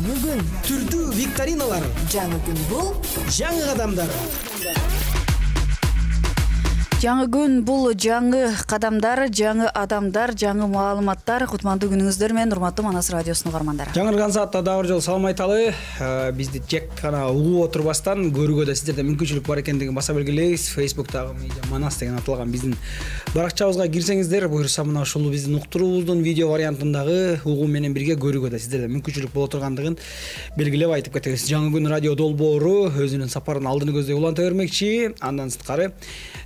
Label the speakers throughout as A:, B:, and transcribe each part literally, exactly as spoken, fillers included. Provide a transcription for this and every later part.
A: Жаңы күн.
B: Түрдүү викториналар.
A: Жаңы күн бул
B: Жаңы кадамдар.
C: Жаңы күн бул жаңы кадамдар, жаңы адамдар, жаңы маалыматтар. Кутмандуу күнүңүздөр менен урматтуу Манас радиосунун угармандары.
B: Жаңырган саатта дагы бир жолу салам айталы. Бизди жек гана угуп отурбастан көрүүгө да сиздерде мүмкүнчүлүк бар экендигин баса белгилейбиз. Facebook'тагы Медиа Манас деген аталган биздин баракчабызга кирсеңиздер, буюрса мына ушул биздин уктуруубуздун видео вариантындагы угуу менен бирге көрүүгө да сиздерде мүмкүнчүлүк боло тургандыгын белгилеп айтып кетебиз. Жаңы күн радио долбоору өзүнүн сапарын алдыны көздөй уланта бермекчи. Андан сырткары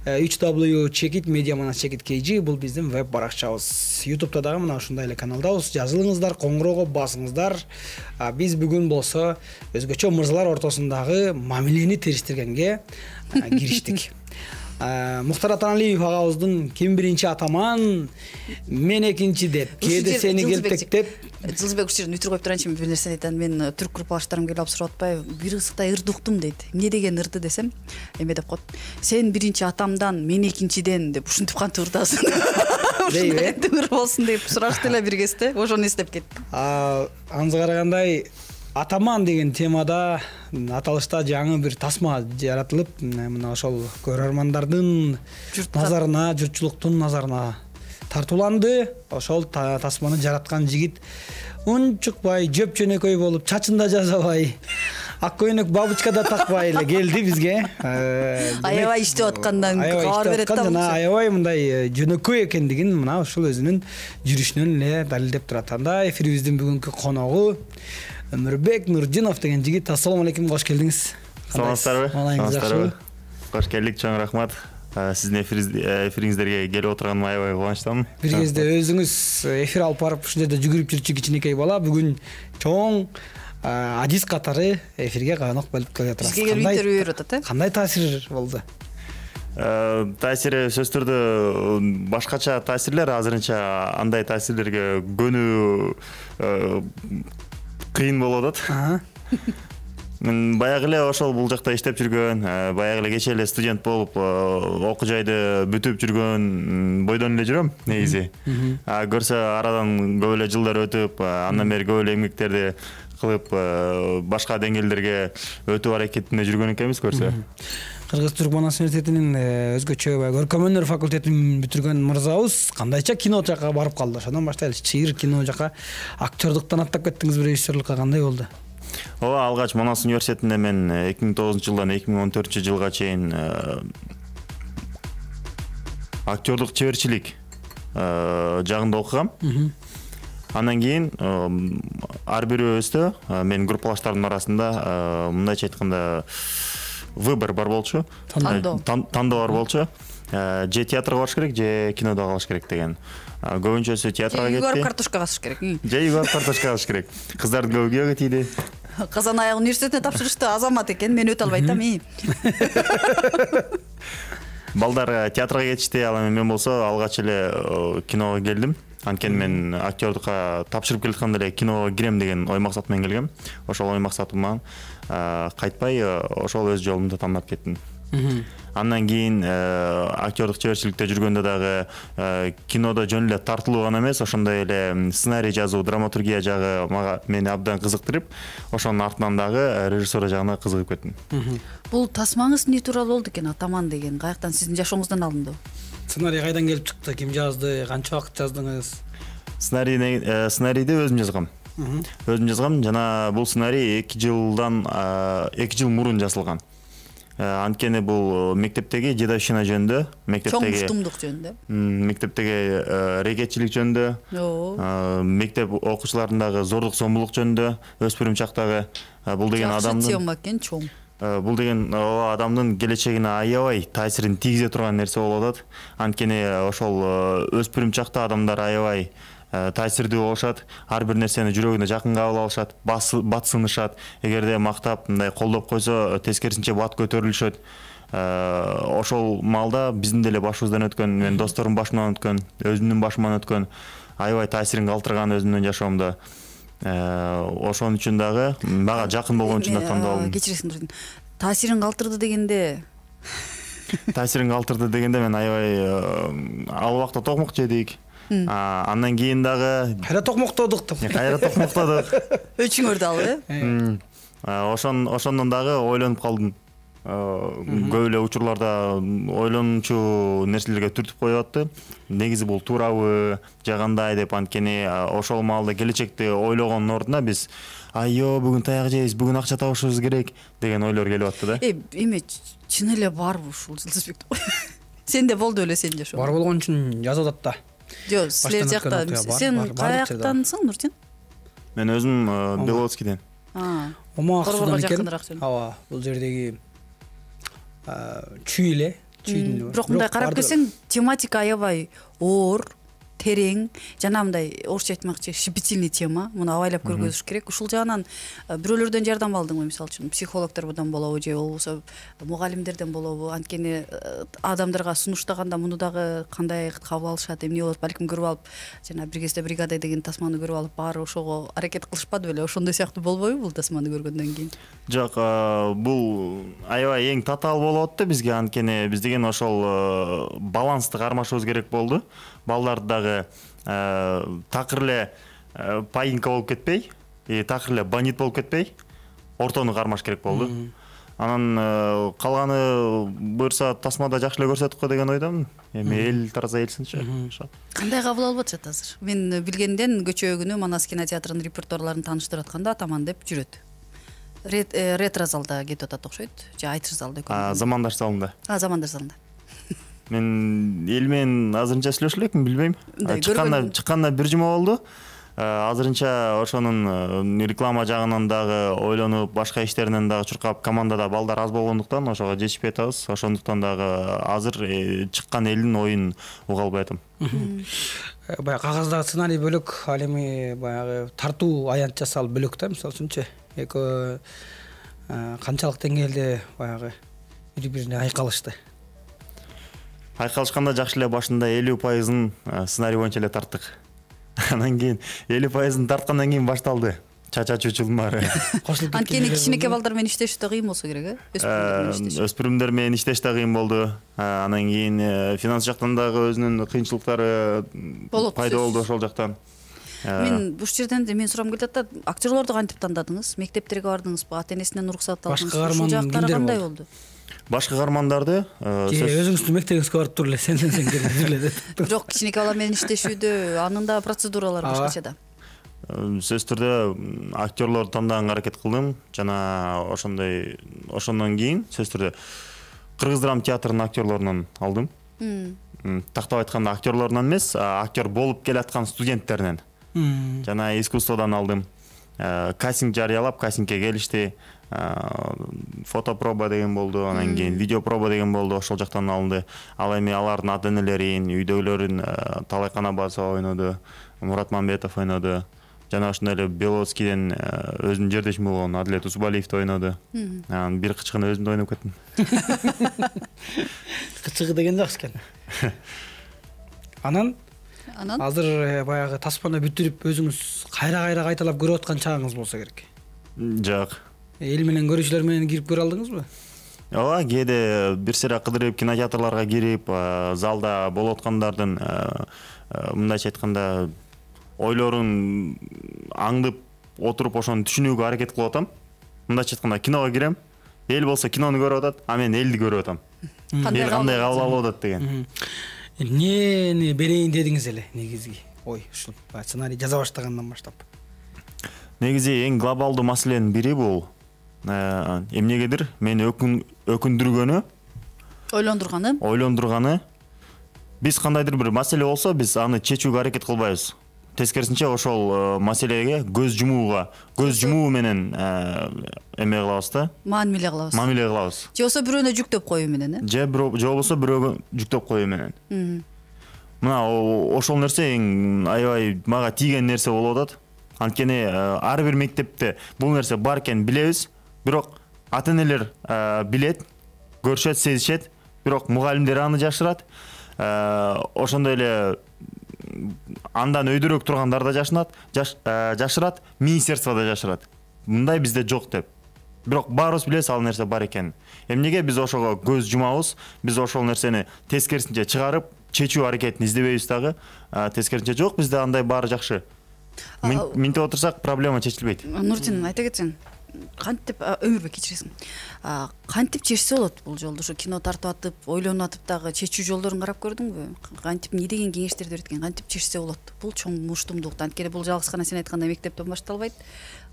B: үч дабл ю чекит Медиа Манас чекит кей жи бул биздин веб баракчабыз. YouTube'да дагы мына ушундай эле каналдабыз. Жазылыңыздар, коңгуроого басыңыздар. Биз бүгүн болсо өзгөчө мырзалар ортосундагы мамилени териштиргенге кириштик. Мухтар Атаналиев агабыздын ким биринчи атаман, мен экинчи деп, кээде сени келтектеп.
C: Жылжыбек ушул жерден үтүр коюп турайынчы, бир нерсени айтайын. Мен түрк группалаштарым келип алып сурап атпайбы? Бир кызыктай ырды уктум дейт. Эмне деген ырды десем, эме деп коет. Сен биринчи атамдан, мен экинчиден деп ушинтип кантип ырдасың? Ушундай ыр болсун деп сурашты эле бир кезде. Ошону эстеп кеттим.
B: Анысы карагандай атаман деген темада аталышта жаңы бир тасма жаратылып, мына ошол көрөрмандардын назарына, журтчулуктун назарына тартууланды. Ошол тасманы жараткан жигит унчукпай, жөп-жөнөкөй болуп, чачында жасабай, ак көйнөк бабочка да такпай эле келди бизге.
C: Аябай иштеп аткандан кабар берет да.
B: Жана аябай мындай жөнөкөй экендигин мына ушул өзүнүн жүрүшүнөн эле далилдеп турат. Анда эфирибиздин бүгүнкү коногу Өмүрбек Нурдинов деген жигит. Ассаламу алейкум, кош келдиңиз.
D: Саламатсыздарбы? Саламатсыздарбы. Кош келдик, чоң рахмат. Сиздин эфириңиздерге келип отурганыма аябай кубанычтамын.
B: Бир кезде өзүңүз эфир алып барып ушул жерде жүгүрүп жүрчү кичинекей бала бүгүн чоң адис катары эфирге конок болуп келе турасыз.
C: Бизге келип интервью берип атат, э?
B: Кандай таасир болду?
D: Таасири сөзсүз түрдө башкача таасирлер, азырынча андай таасирлерге көнүү кыйын болуп атат. Мен баягы эле ошол бул жакта иштеп жүргөн, баягы эле кечээ эле студент болуп, окуу жайды бүтүп жүргөн бойдон эле жүрөм негизи. Көрсө арадан көп эле жылдар өтүп, андан бери көп эле эмгектерди кылып, башка деңгээлдерге өтүп аракетинде жүргөн экенбиз көрсө.
B: Кыргыз-Түрк Манас университетинин өзгөчө көркөм өнөр факультетин бүтүргөн мырзабыз кандайча кино жакка барып калды? Ошондон баштайлы. Чыйыр кино жакка актёрдуктан аттап кеттиңиз, режиссерлукка кандай болду?
D: Ооба, алгач Манас университетинде мен эки миң тогузунчу жылдан эки миң он төртүнчү жылга чейин актёрдук чеберчилик жагында окугам. Андан кийин ар бирөөбүздө, мен группалаштардын арасында мындайча айтканда выбор бар болчу. Тандоо. Тандоо бар болчу. Же театрга барыш керек, же кинодо калыш керек деген. Көбүнчөсү театрга кетти.
C: Же барып картошка касыш керек.
D: Же барып картошка касыш керек. Кыздардын көбү күйөөгө тийди.
C: Казан аяк университетине тапшырышты, азамат экен, мен өтө албайт да мен.
D: Балдар театрга кетишти, ал эми мен болсо алгач эле киного келдим. Анткени мен актёрдукка тапшырып келатканда эле киного кирем деген ой максат менен келгем. Ошол ой максатыман кайтпай ошол өз жолумду тандап кеттим. Андан кийин актёрдук чеберчиликте жүргөндө дагы кинодо жөн эле тартылуу гана эмес, ошондой эле сценарий жазуу, драматургия жагы мага мени абдан кызыктырып, ошонун артынан дагы режиссура жагына кызыгып кеттим.
C: Бул тасмаңыз эмне тууралуу болду экен? Атаман деген каяктан, сиздин жашооңуздан алынды?
B: Сценарий кайдан келип чыкты? Ким жазды? Канча убакыт жаздыңыз?
D: Сценарийди сценарийди өзүм жазгам. Өзүм жазгам жана бул сценарий эки жылдан эки жыл мурун жазылган. Анткени бул мектептеги жедовщина жөнүндө, мектептеги
C: чоң уктумдук жөнүндө,
D: мектептеги рекетчилик жөнүндө, мектеп окуучуларындагы зордук зомбулук жөнүндө, өспүрүм чактагы бул деген адамдын
C: тема экен, чоң.
D: Бул деген адамдын келечегине аябай таасирин тийгизе турган нерсе болуп атат. Анткени ошол өспүрүм чакта адамдар аябай таасирдүү болушат, ар бир нерсени жүрөгүнө жакын кабыл алышат, батсынышат. Эгерде мактап мындай колдоп койсо, тескерисинче бат көтөрүлүшөт. Ошол маалда биздин деле башыбыздан өткөн, мен досторум башымдан өткөн, өзүмдүн башымдан өткөн аябай таасирин калтырган өзүмдүн жашоомдо. Ошон үчүн дагы мага жакын болгон үчүн да тандоо алдым.
C: Кечиресиң, таасирин калтырды дегенде
D: таасирин калтырды дегенде мен аябай ал убакта токмок жедик. Андан кийин дагы
B: кайра токмоктодук деп.
D: Кайра токмоктодук.
C: Өчүңөрдү алып, э?
D: Ошон ошондон дагы ойлонуп калдым. Көп эле учурларда ойлонуучу нерселерге түртүп коюп атты. Негизи бул туурабы, же кандай деп, анткени ошол маалда келечекти ойлогондун ордуна биз айё бүгүн таяк жейбиз, бүгүн акча табышыбыз керек деген ойлор келип атты да.
C: Э, эме чын эле барбы ушул Жылдызбек? Сенде болду эле сенде ошо.
B: Бар болгон үчүн жазып атат да.
C: Жок, силер жакта сен каяктансың, Нуртин?
D: Мен өзүм Беловодскийден.
B: Омаксудан экен. Ооба, бул жердеги чүй эле, чүйдүн.
C: Бирок мындай карап келсең, тематика аябай оор, терең, жана мындай орусча айтмакчы щепетильный тема. Муну абайлап көргөзүш керек. Ушул жагынан бирөөлөрдөн жардам алдыңбы, мисалы үчүн психологдордон болобу же болбосо мугалимдерден болобу? Анткени адамдарга сунуштаганда муну дагы кандай кабыл алышат, эмне болот, балким көрүп алып, жана бир кезде бригада деген тасманы көрүп алып, баары ошого аракет кылышпады беле? Ошондой сыяктуу болбойбу бул тасманы көргөндөн кийин?
D: Жок, бул аябай эң татаал болуп атты бизге, анткени биз деген ошол балансты кармашыбыз керек болду. Балдарды дагы такыр эле паинька болуп кетпей, такыр эле бандит болуп кетпей, ортону кармаш керек болду. Анан калганы буюрса тасмада жакшы эле көрсөттүк го деген ойдомун. Эми эл тараза элсинчи.
C: Кандай кабыл алып атышат азыр? Мен билгенден көчө күнү Манас кинотеатрынын репертуарларын тааныштырып атканда атаман деп жүрөт. Ретро залда кетип атат окшойт, же айтыш залда өкүнү.
D: Замандар залында.
C: А, Замандар залында.
D: Мен эл менен азырынча сүйлөшө элекмин, билбейм. Чыкканда чыкканда бир жума болду. Азырынча ошонун реклама жагынан дагы ойлонуп, башка иштеринен дагы чуркап, командада балдар аз болгондуктан ошого жетишпей атабыз. Ошондуктан дагы азыр чыккан элдин оюн уга албай атам.
B: Баягы кагаздагы сценарий бөлөк, ал эми баягы тартуу аянт жасалып бөлөк да, мисалы үчүнчү. Эки канчалык деңгээлде баягы бири-бирине айкалышты.
D: Айкалышканда жакшы эле башында элүү пайызын сценарий боюнча эле тарттык. Анан кийин элүү пайызын тарткандан кийин башталды чача чучулмары.
C: Анткени кичинекей балдар менен иштеш да кыйын болсо керек, э?
D: Өспүрүмдөр менен иштеш да кыйын болду. Анан кийин финанс жактан дагы өзүнүн кыйынчылыктары пайда болду ошол жактан.
C: Мен бул жерден мен сурам келип атат, актерлорду кантип тандадыңыз? Мектептерге бардыңызбы? Ата-энесинен уруксат алдыңызбы? Ушул жактары кандай болду?
D: Башка каармандарды
B: өзүңүздүн мектебиңизге барып туруп эле сенден сен келип эле деп.
C: Жок, кичинекей бала менен иштешүүдө анын да процедуралары башкача да.
D: Сөзсүз түрдө актерлорду тандаганга аракет кылдым, жана ошондой ошондон кийин сөзсүз түрдө Кыргыз драма театрынын актерлорунан алдым. Тактап айтканда актерлорунан эмес, актер болуп келаткан студенттеринен жана искусстводан алдым. Кастинг жарыялап, кастингге келишти. Фотопроба деген болду, анан кийин видеопроба деген болду, ошол жактан алынды. Ал эми алардын ата-энелерин, үйдөгүлөрүн Талай Канабасова ойноду, Мурат Мамбетов ойноду. Жана ошондой эле Беловодскийден өзүнүн жердешими болгон Адилет Усубалиевди ойноду. Анан бир кычкыны өзүм да ойноп кеттим.
B: Кычкы деген жакшы экен. Анан Анан азыр баягы тасманы бүтүрүп өзүңүз кайра-кайра кайталап көрүп аткан чагыңыз болсо керек.
D: Жок.
B: Эл менен көрүүчүлөр менен кирип көрө алдыңызбы?
D: Ооба, кээде бир сыйра кыдырып кинотеатрларга кирип, залда болуп аткандардын мындайча айтканда ойлорун аңдып отуруп ошону түшүнүүгө аракет кылып атам. Мындайча айтканда киного кирем, эл болсо кинону көрүп атат, а мен элди көрүп атам. Эл кандай кабыл алып атат деген.
B: Эмнени берейин дедиңиз эле негизги? Ой, ушул сценарий жаза баштагандан баштап.
D: Негизи эң глобалдуу маселенин бири бул эмнегедир мени өкүндүргөнү,
C: ойлондурганы.
D: Ойлондурганы. Биз кандайдыр бир маселе болсо, биз аны чечүүгө аракет кылбайбыз. Тескерисинче ошол маселеге көз жумууга, көз жумуу менен эме кылабыз да.
C: Маамиле кылабыз.
D: Маамиле кылабыз.
C: Же болсо бирөөнө жүктөп коюу менен, э?
D: Же болбосо бирөөгө жүктөп коюу менен. Мына ошол нерсе эң аябай мага тийген нерсе болуп атат. Анткени ар бир мектепте бул нерсе бар экенин билебиз, бирок ата-энелер билет, көрүшөт, сезишет, бирок мугалимдер аны жашырат. Ошондой эле андан өйдөрөөк тургандар да жашынат, жашырат, министерство да жашырат. Мындай бизде жок деп. Бирок баарыбыз билебиз ал нерсе бар экенин. Эмнеге биз ошого көз жумабыз? Биз ошол нерсени тескерисинче чыгарып, чечүү аракетин издебейбиз дагы. Тескерисинче жок, бизде андай баары жакшы. Минтип отурсак проблема чечилбейт.
C: Нуртин, айта кетсең, кантип өмүрбек кечиресиң. Кантип чечсе болот бул жолду? Ушу кино тартып атып, ойлонуп атып дагы чечүү жолдорун карап көрдүңбү? Кантип эмне деген кеңештерди берет экен? Кантип чечсе болот? Бул чоң муштумдук. Анткени бул жалгыз гана сен айткандай мектептен башталбайт.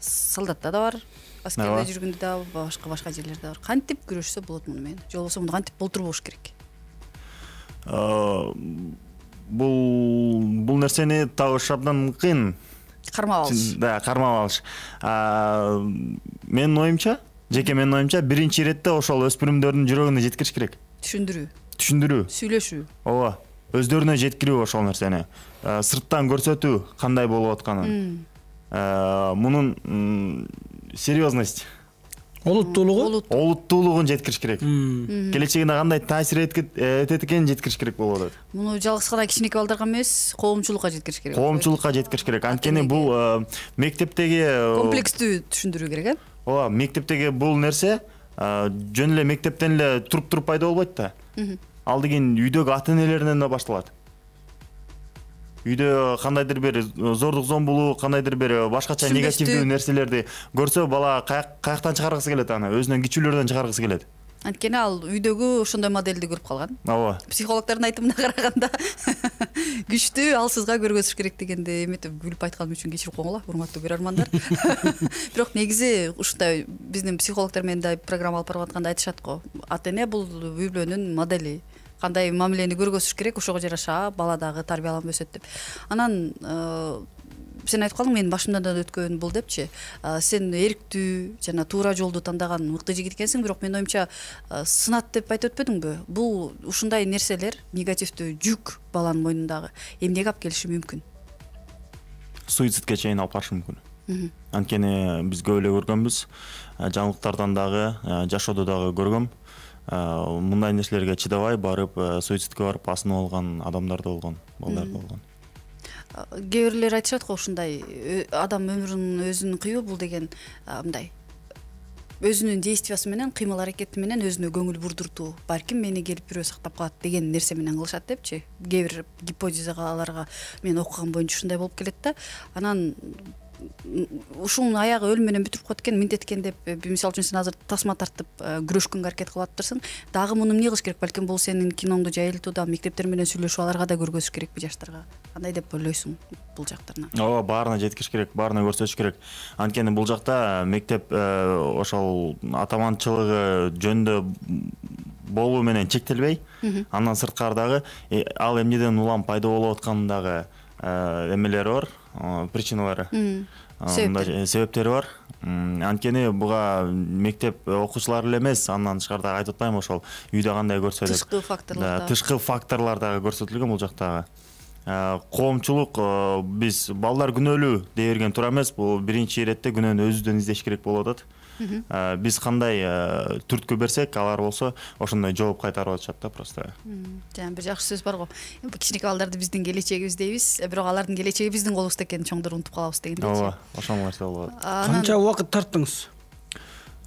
C: Солдатта да бар, аскерде жүргөндө да, башка башка жерлерде бар. Кантип күрөшсө болот муну менен? Же болбосо муну кантип болтурбош керек?
D: Бул бул нерсени табыш абдан кыйын.
C: Кармап алыш.
D: Да, кармап алыш. Менин оюмча, жеке менин оюмча, биринчи иретте ошол өспүрүмдөрдүн жүрөгүнө жеткириш керек.
C: Түшүндүрүү. Түшүндүрүү. Сүйлөшүү.
D: Ооба. Өздөрүнө жеткирүү ошол нерсени. Сырттан көрсөтүү кандай болуп атканын. Мунун серьезность,
B: олуттуулугу
D: олуттуулугун жеткириш керек. Келечегине кандай таасир этет экенин жеткириш керек болуп атат.
C: Муну жалгыз гана кичинекей балдарга эмес, коомчулукка жеткириш керек.
D: Коомчулукка жеткириш керек. Анткени бул мектептеги
C: комплекстүү түшүндүрүү керек, э?
D: Ооба, мектептеги бул нерсе жөн эле мектептен эле туруп-туруп пайда болбойт да. Ал деген үйдөгү ата-энелеринен да башталат. Үйдө кандайдыр бир зордук зомбулук, кандайдыр бир башкача негативдүү нерселерди көрсө, бала каяктан чыгаргысы келет аны, өзүнөн кичүүлөрдөн чыгаргысы келет.
C: Анткени ал үйдөгү ошондой моделди көрүп калган.
D: Ооба.
C: Психологдордун айтымына караганда күчтүү алсызга көргөзүш керек дегенде эметип күлүп айтканым үчүн кечирип коюңула, урматтуу көрөрмандар. Бирок негизи ушундай биздин психологдор менен да программа алып барып атканда айтышат го. Ата-эне бул үй бүлөнүн модели. Кандай мамилени көргөзүш керек, ошого жараша бала дагы тарбияланып өсөт деп. Анан сен айтып калдың, менин башымдан да өткөн бул депчи. Сен эрктүү жана туура жолду тандаган мыкты жигит экенсиң, бирок менин оюмча сынат деп айтып өтпөдүңбү? Бул ушундай нерселер, негативдүү жүк баланын мойнундагы эмнеге алып келиши мүмкүн?
D: Суицидке чейин алып барышы мүмкүн. Анткени биз көп эле көргөнбүз, жаңылыктардан дагы, жашоодо дагы көргөм. Мындай нерселерге чыдабай барып суицидке барып асынып алган адамдар да болгон, балдар да болгон.
C: Кээ бирлер айтышат го, ушундай адам өмүрүн өзүн кыюу бул деген мындай өзүнүн действиясы менен, кыймыл аракети менен өзүнө көңүл бурдуртуу, балким мени келип бирөө сактап калат деген нерсе менен кылышат депчи. Кээ бир гипотезаларга мен окуган боюнча ушундай болуп келет да. Анан ушунун аягы өлүм менен бүтүрүп коет экен, минтет экен деп, мисалы үчүн сен азыр тасма тартып күрөшкөнгө аракет кылып атыптырсың. Дагы муну эмне кылыш керек? Балким бул сенин киноңду жайылтууда мектептер менен сүйлөшүп аларга да көргөзүш керекпи жаштарга? Кандай деп ойлойсуң бул жактарына?
D: Ооба, баарына жеткириш керек, баарына көрсөтүш керек. Анткени бул жакта мектеп ошол атаманчылыгы жөнүндө болуу менен чектелбей, андан сырткары дагы ал эмнеден улам пайда болуп атканындагы эмелери бар, причиналары, себептери бар. Анткени буга мектеп окуучулары эле эмес, андан тышкары дагы айтып атпаймынбы, ошол үйдө кандай көрсө деп.
C: Тышкы факторлор.
D: Тышкы факторлор дагы көрсөтүлгөн бул жактагы. Коомчулук, биз балдар күнөөлүү дей берген туура эмес, бул биринчи иретте күнөөнү өзүбүздөн издеш керек болуп атат. Биз кандай түрткү берсек, алар болсо ошондой жооп кайтарып атышат да просто.
C: Жана бир жакшы сөз бар го. Кичинекей балдарды биздин келечегибиз дейбиз, бирок алардын келечеги биздин колубузда экенин чоңдор унутуп калабыз дегендейчи.
D: Ооба, ошол нерсе болуп атат.
B: Канча убакыт тарттыңыз?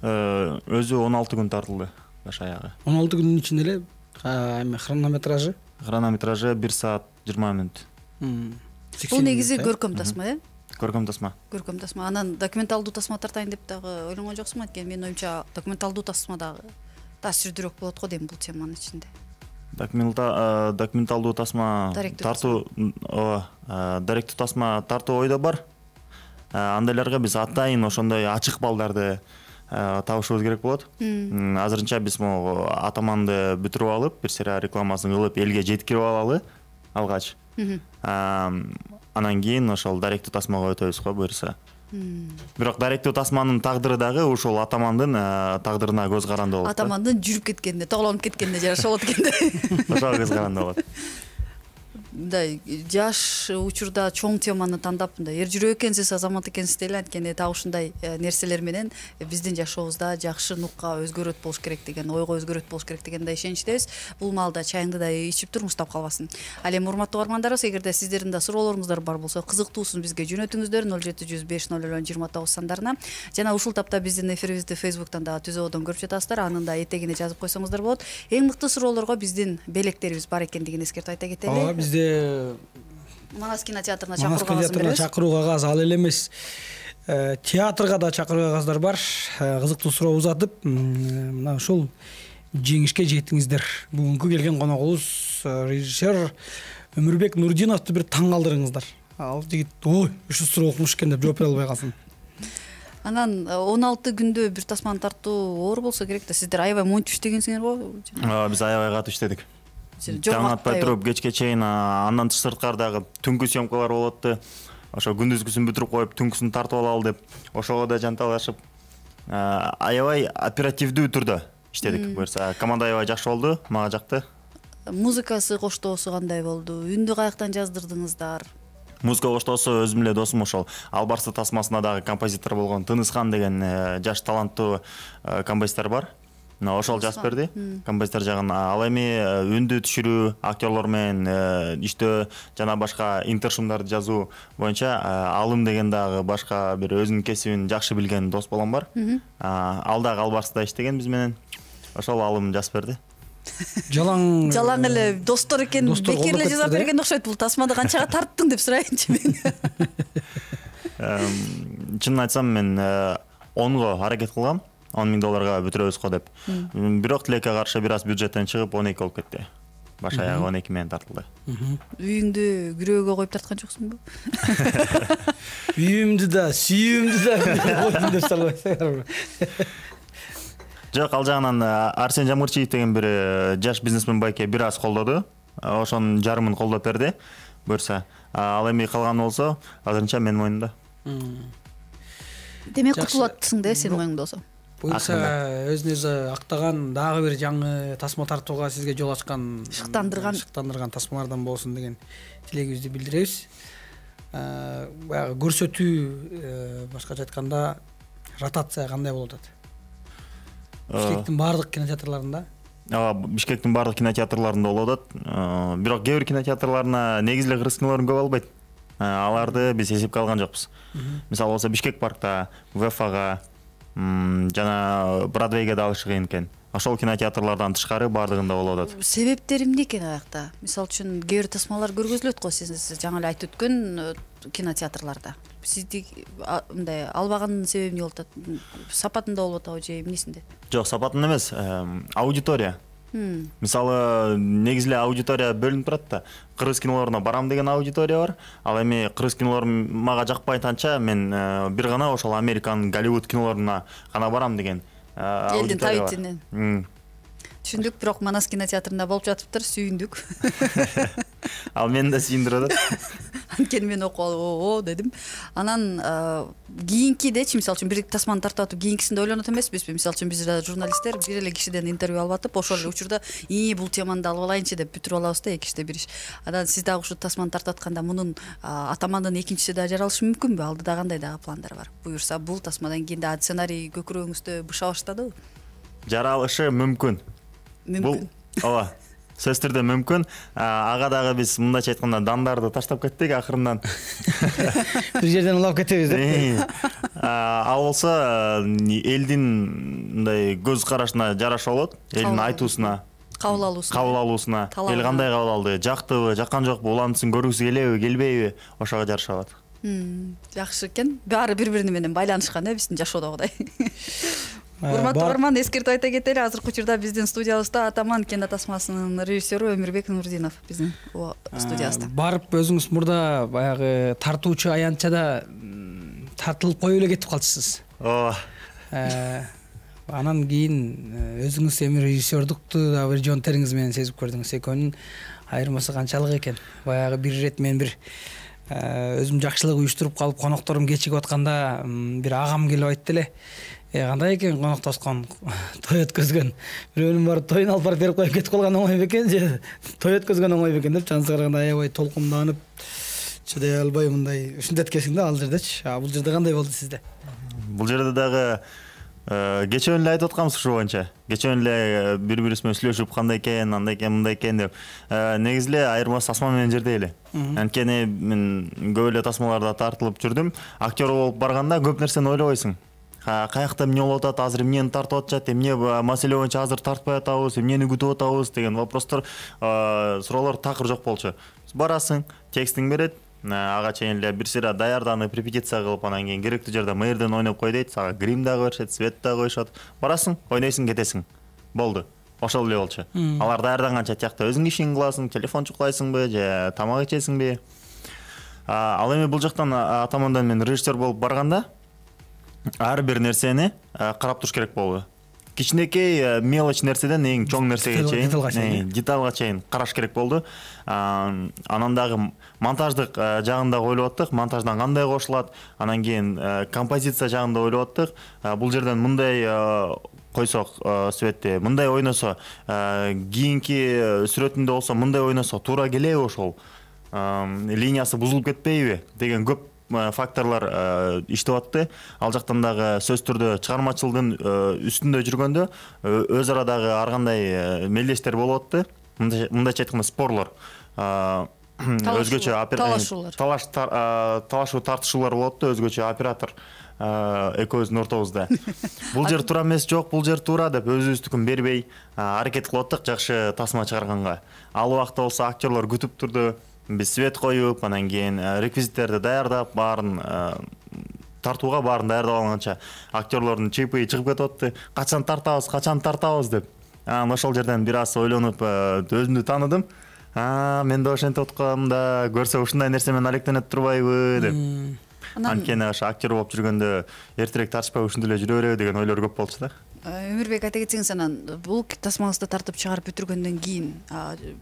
D: Өзү он алты күн тартылды баш аягы.
B: он алты күндүн ичинде эле эме хронометражы?
D: Хронометражы бир саат жыйырма мүнөт.
C: Бул негизи көркөм тасма, э?
D: Көркөм тасма.
C: Көркөм тасма. Анан документалдуу тасма тартайын деп дагы ойлонгон жоксуңбу? Анткени менин оюмча документалдуу тасма дагы таасирдүүрөөк болот го дейм бул теманын ичинде.
D: Документалдуу тасма тартуу, ооба, даректүү тасма тартуу ойдо бар. Андайларга биз атайын ошондой ачык балдарды табышыбыз керек болот. Азырынча биз могу атаманды бүтүрүп алып, бир сыйра рекламасын кылып, элге жеткирип алалы алгач. Анан кийин ошол даректүү тасмага өтөбүз го буюрса. Бирок даректүү тасманын тагдыры дагы ушул атамандын тагдырына көз каранды болот.
C: Атамандын жүрүп кеткенине, тоголонуп кеткенине жараша болот экен да.
D: Ошого көз каранды болот.
C: мындай жаш учурда чоң теманы тандап мындай эр жүрөк экенсиз, азамат экенсиз деле, анткени так ушундай нерселер менен биздин жашообузда жакшы нукка өзгөрөт болуш керек деген, ойго өзгөрөт болуш керек деген да ишеничтебиз. Бул маалда чайыңды да ичип тур, муштап калбасын. Ал эми урматтуу угармандарыбыз, эгерде сиздердин да суроолоруңуздар бар болсо, кызыктуусун бизге жөнөтүңүздөр ноль жети жүз беш ноль ноль жыйырма тогуз сандарына. Жана ушул тапта биздин эфирибизди Facebook'тан да түзөөдөн көрүп жатасыздар. Анын да этегине жазып койсоңуздар болот. Эң мыкты суроолорго биздин белектерибиз бар экендигин эскертип айта кетели.
B: Ооба, бизде
C: Манас кинотеатрына
B: Манас
C: чакыруу кагазын
B: кинотеатрына
C: беребиз.
B: чакыруу кагаз ал эле эмес. Театрга да чакыруу кагаздар бар. Кызыктуу суроо узатып, мына ушул жеңишке жеттиңиздер. Бүгүнкү келген коногубуз режиссер Өмүрбек Нурдиновду бир таң калтырыңыздар. Ал жигит ой, ушул суроо окумуш экен деп жооп бере албай калсын.
C: Анан он алты күндө бир тасманы тартуу оор болсо керек да. Сиздер аябай монтип иштегенсиңер го?
D: Ооба, биз аябай катуу иштедик.
C: Таң
D: атпай туруп кечке чейин, андан сырткардагы түнкү съемкалар болот да. Ошо күндүзгүсүн бүтүрүп коюп, түнкүсүн тартып алалы деп, ошого да жанталашып, аябай оперативдүү түрдө иштедик. Буюрса, команда аябай жакшы болду, мага жакты.
C: Музыкасы, коштоосу кандай болду? Үндү каяктан жаздырдыңыздар?
D: Музыка коштоосу өзүм эле досум ошол Албарсы тасмасына дагы композитор болгон Тынысхан деген жаш таланттуу композитор бар. Ошол жазып берди, композитор жагын. Ал эми үндү түшүрүү, актерлор менен иштөө жана башка интершумдарды жазуу боюнча Алым деген дагы башка бир өзүнүн кесибин жакшы билген дос балам бар. Ал дагы Албарсыда иштеген биз менен. Ошол Алым жазып берди.
B: Жалаң
C: Жалаң эле достор экен, бекер эле жазып берген окшойт. Бул тасмада канчага тарттың деп сурайынчы мен.
D: Чынын айтсам, мен онго аракет кылгам. он миң долларга бүтүрөбүз го деп. Бирок тилекке каршы бир аз бюджеттен чыгып он эки болуп кетти. Баш аягы он эки менен тартылды.
C: Үйүңдү күрөөгө коюп тарткан жоксуңбу?
B: Үйүмдү да, сүйүүмдү да коюп деп салбайсыңарбы?
D: Жок, ал жагынан Арсен Жамырчиев деген бир жаш бизнесмен байке бир аз колдоду. Ошонун жарымын колдоп берди. Буюрса, ал эми калганы болсо, азырынча менин мойнумда.
C: Демек кутулатсың да сенин мойнуңда болсо.
B: Буюрса, өзүн өзү актаган дагы бир жаңы тасма тартууга сизге жол ачкан,
C: шыктандырган
B: шыктандырган тасмалардан болсун деген тилегибизди билдиребиз. Баягы көрсөтүү, башкача айтканда, ротация кандай болуп атат? Бишкектин баардык кинотеатрларында?
D: Ооба, Бишкектин баардык кинотеатрларында болуп атат. Бирок кээ бир кинотеатрларына негизи эле кыргыз кинолорун көп албайт. Аларды биз эсепке алган жокпуз. Мисалы болсо Бишкек паркта, ВФга жана Бродвейге да алышы кыйын экен. Ошол кинотеатрлардан тышкары баардыгында болуп атат.
C: Себептери эмне экен аякта? Мисалы үчүн кээ бир тасмалар көргөзүлөт го, сиз жаңы эле айтып өткөн кинотеатрларда. Сизди мындай албаганын себеби эмне болуп атат? Сапатында болуп атабы же эмнесинде? Жок,
D: сапатында эмес, аудитория. Мисалы, негизи эле аудитория бөлүнүп турат да. Кыргыз кинолоруна барам деген аудитория бар. Ал эми кыргыз кинолору мага жакпайтанча мен бир гана ошол Американын Голливуд кинолоруна гана барам деген
C: элдин табитинен. Түшүндүк, бирок Манас кинотеатрында болуп жатыптыр, сүйүндүк.
D: Ал мени да сүйүндүрөт.
C: Анткени мен окуп алып, оо дедим. Анан кийинкидечи, мисалы үчүн бир тасманы тартып атып, кийинкисинде ойлонот эмеспизби? Мисалы үчүн биз журналисттер бир эле кишиден интервью алып атып, ошол эле учурда ии бул теманы да алып алайынчы деп бүтүрүп алабыз да, эки иште бир иш. Анан сиз дагы ушу тасманы тартып атканда мунун атамандын экинчиси да жаралышы мүмкүнбү? Алдыда кандай дагы пландар бар? Буюрса, бул тасмадан кийин да сценарий көкүрөгүңүздө быша баштадыбы?
D: Жаралышы мүмкүн. Бул ооба, сөзсүз түрдө мүмкүн. Ага дагы биз мындайча айтканда дандарды таштап кеттик акырындан.
B: Бир жерден улап кетебиз деп.
D: Ал болсо элдин мындай көз карашына жараша болот, элдин айтуусуна,
C: кабыл алуусуна.
D: Кабыл алуусуна. Эл кандай кабыл алды? Жактыбы, жаккан жокпу? Улантысын көргүсү келеби, келбейби? Ошого жараша болот.
C: Жакшы экен. Баары бири-бири менен байланышкан э, биздин жашоодогудай. Урматтуу угарман, эскертип айта кетели, азыркы учурда биздин студиябызда Атаман кино тасмасынын режиссеру Өмүрбек Нурдинов биздин студиябызда.
B: Барып өзүңүз мурда баягы тартуучу аянтчада тартылып коюп эле кетип калчысыз.
D: Ооба.
B: Анан кийин өзүңүз эми режиссердукту да бир жон териңиз менен сезип көрдүңүз. Экөөнүн айырмасы канчалык экен? Баягы бир ирет мен бир өзүм жакшылык уюштуруп калып, конокторум кечигип атканда бир агам келип айтты эле. кандай экен коноктошкон той өткөзгөн бирөөнүн барып тоюн алып барып берип коюп кетип калган оңой бекен же той өткөзгөн оңой бекен деп жаныбызга караганда аябай толкунданып чыдай албай мындай ушинтет экенсиң да ал жердечи. А бул жерде кандай болду сизде?
D: Бул жерде дагы кечээ эле айтып атканбыз ушу боюнча. Кечээ эле бири бирибиз менен сүйлөшүп кандай экен, андай экен, мындай экен деп. Негизи эле айырмасы тасма менен жердей эле. Анткени мен көп эле тасмаларда тартылып жүрдүм. Актер болуп барганда көп нерсени ойлобойсуң. Каякта эмне болуп атат, азыр эмнени тартып атышат, эмне маселе боюнча азыр тартпай атабыз, эмнени күтүп атабыз деген вопростор, суроолор такыр жок болчу. Барасың, текстиң берет, ага чейин эле бир сыйра даярданып, репетиция кылып, анан кийин керектүү жерде мэрден ойноп кой дейт, сага грим дагы беришет, свет дагы коюшат. Барасың, ойнойсуң, кетесиң. Болду. Ошол эле болчу. Алар даярданганча тиякта өзүң ишиңди кыласың, телефон чукулайсыңбы же тамак ичесиңби? Ал эми бул жактан атамандан мен режиссер болуп барганда ар бир нерсени карап туруш керек болду. Кичинекей мелочь нерседен эң чоң нерсеге чейин, деталга чейин караш керек болду. Анан дагы монтаждык жагында ойлоп аттык, монтаждан кандай кошулат, анан кийин композиция жагында ойлоп аттык. Бул жерден мындай койсок светти, мындай ойносо, кийинки сүрөтүндө болсо мындай ойносо туура келеби ошол? Линиясы бузулуп кетпейби деген көп факторлор иштеп атты. Ал жактан дагы сөз түрдө чыгармачылыктын үстүндө жүргөндө өз ара дагы ар кандай мелдештер болуп атты. Мындайча айтканда спорлор, өзгөчө талашуулар, талашуу тартышуулар болуп атты, өзгөчө оператор экөөбүздүн ортобузда. Бул жер туура эмес, жок, бул жер туура деп өзүбүздүкүн бербей аракет кылып аттык жакшы тасма чыгарганга. Ал убакта болсо актерлор күтүп турду. Биз свет коюп, анан кийин реквизиттерди даярдап, баарын тартууга баарын даярдап алганча актерлордун чыйпыйы чыгып кетип атты. Качан тартабыз, качан тартабыз деп. Анан ошол жерден бир аз ойлонуп, өзүмдү тааныдым. А, мен да ошентип аткам да, көрсө ушундай нерсе менен алектенет турбайбы деп. Анткени ошо актер болуп жүргөндө эртерээк тартышпай ушинтип эле жүрө береби деген ойлор көп болчу да.
C: Өмүрбек, айта кетсеңиз, анан бул тасмаңызды тартып чыгарып бүтүргөндөн кийин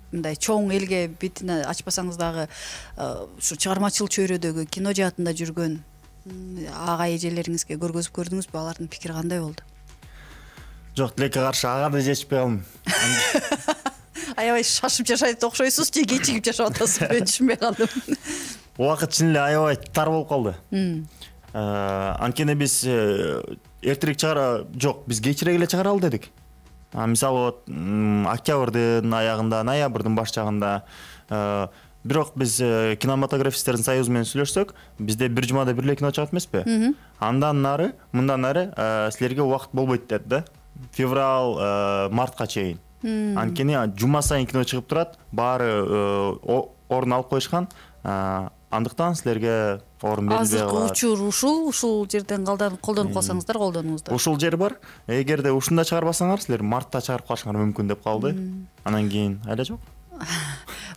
C: мындай чоң элге бетине ачпасаңыз дагы ушу чыгармачыл чөйрөдөгү кино жаатында жүргөн ага эжелериңизге көргөзүп көрдүңүзбү? Алардын пикири кандай болду?
B: Жок, тилекке каршы ага да жетишпей калдым.
C: Аябай шашып жашайт окшойсуз же кечигип жашап атасыз? Мен түшүнбөй калдым.
B: Убакыт чын эле аябай тар болуп калды. Анткени биз эртерээк чыгара, жок, биз кечирээк эле чыгара ал дедик. Мисалы, октябрдын аягында, ноябрдын баш жагында. Бирок биз кинематографисттердин союзу менен сүйлөшсөк, бизде бир жумада бир эле кино чыгат эмеспи? Андан нары, мындан нары силерге убакыт болбойт деді да. Февраль, мартка чейин. Анткени жума сайын кино чыгып турат, баары орун алып коюшкан. Андыктан силерге орун берилбей калат.
C: Азыркы учур ушул, ушул жерден колдонуп калсаңыздар, колдонуңуздар.
B: Ушул жер бар. Эгерде ушунда чыгарбасаңар, силер мартта чыгарып калышыңар мүмкүн деп калды. Анан кийин айла жок.